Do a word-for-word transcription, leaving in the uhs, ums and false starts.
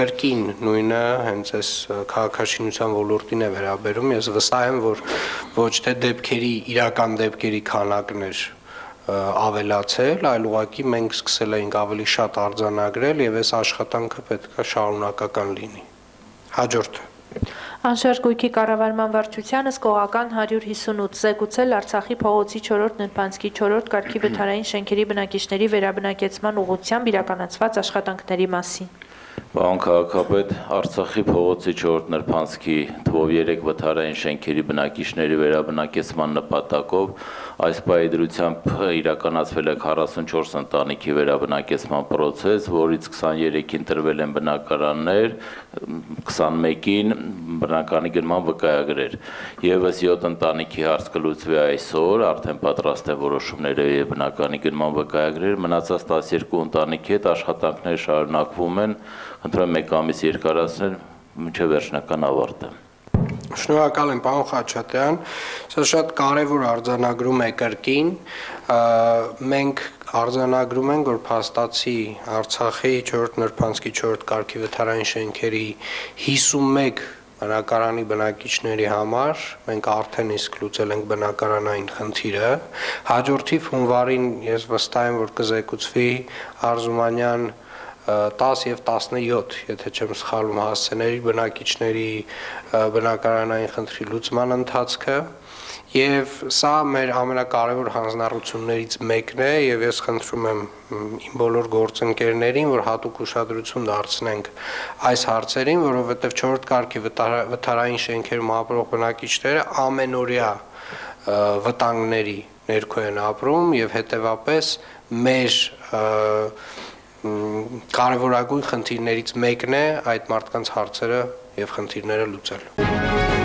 կրկին նույնը հենց այս քաղաքաշինության ոլորտին է վերաբերում, ես վստահ եմ, որ ոչ թե դեպքերի, իրական դեպքերի քանակն էր ավելացել, այլ ուղղակի մենք սկսել էինք ավելի շատ արձանագրել եւ այս աշխատանքը պետք է շարունակական լինի։ Հաջորդը Անշարժ գույքի կառավարման վարչությանը սկողական հարյուր հիսունութ զեկուցել Արցախի փողոցի չորրորդ նրբանցքի չորրորդ կարգի վթարային շենքերի բնակիչների վերաբնակեցման ուղղությամբ իրականացված աշխատանքների մասին։ Պարոն քաղաքապետ, Արցախի փողոցի չորրորդ նրբանցքի թվով երեք վթարային շենքերի բնակիչների վերաբնակեցման նպատակով այս պահի դրությամբ իրականացվել է քառասունչորս ընտանիքի վերաբնակեցման process, որից քսաներեքին տրվել են բնակարաններ, քսանմեկին բնակարանի գնման վկայագրեր։ Եվս յոթ ընտանիքի հարց կլուծվի այսօր, արդեն պատրաստ է որոշումները եւ բնակարանի գնման վկայագրեր, մնացած տասներկու ընտանիքի հետ աշխատանքները շարունակվում են, խնդրում եմ մեկ ամիս երկարացնել մինչև վերջնական ավարտը։ Շնորհակալ եմ, պարոն Խաչատրյան, սա շատ կարևոր արձանագրում է կրկին, մենք արձանագրում ենք, որ փաստացի Արցախի չորրորդ նրբանցքի չորրորդ կարգի վթարային շենքերի հիսունմեկ բնակարանի բնակիչների համար մենք արդեն իսկ լուծել ենք բնակարանային խնդիրը, հաջորդիվ հունվարին ես վստահ եմ, որ կզեկուցվի Արզումանյան տաս եւ տասնյոթ, եթե չեմ սխալվում, հասցեների բնակիչների բնակարանային խնդրի լուծման ընթացքը եւ սա մեր ամենակարևոր հանձնառություններից մեկն է եւ ես խնդրում եմ իմ բոլոր գործընկերներին, որ հատուկ ուշադրություն դարձնենք այս հարցերին, որովհետեւ չորրորդ կարգի վթարային շենքերում ապրող բնակիչները ամենօրյա վտանգների ներքո են ապրում եւ հետեւապես մեր կարևորագույն խնդիրներից մեկն է այդ մարդկանց հարցերը եւ խնդիրները լուծել։